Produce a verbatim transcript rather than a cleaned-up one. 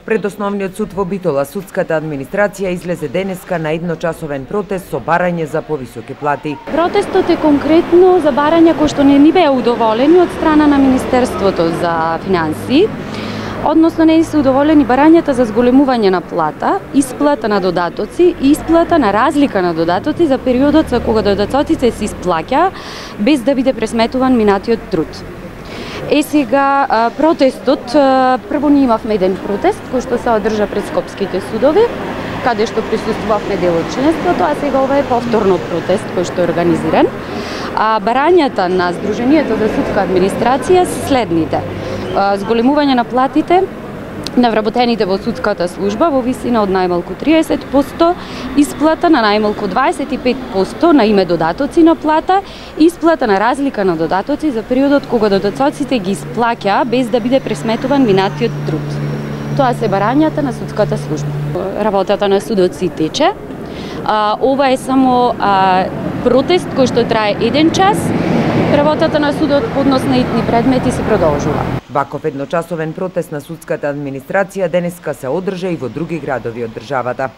Пред Основниот суд во Битола, судската администрација излезе денеска на едночасовен протест со барање за повисоки плати. Протестот е конкретно за барања кои што не ни беа удоволени од страна на Министерството за финансии, односно не се удоволени барањата за зголемување на плата, исплата на додатоци и исплата на разлика на додатоци за периодот за кога додатоците се исплаќа без да биде пресметуван минатиот труд. Е сега протестот, прво ние имавме еден протест кој што се одржа пред скопските судови, каде што присуствувавме дел од членството, а сега ова е повторно протест кој што е организиран. А барањата на Сдруженијето за судска администрација се следните: зголемување на платите на вработените во судската служба во висина од најмалку триесет проценти, исплата на најмалку дваесет и пет проценти на име додатоци на плата, исплата на разлика на додатоци за периодот кога додатоците ги исплаќа без да биде пресметуван минатиот труд. Тоа се барањата на судската служба. Работата на судот си тече. А, ова е само а, протест кој што трае еден час. Работата на судот по однос на итни предмети се продолжува. Ваков едночасовен протест на судската администрација денеска се одржа и во други градови од државата.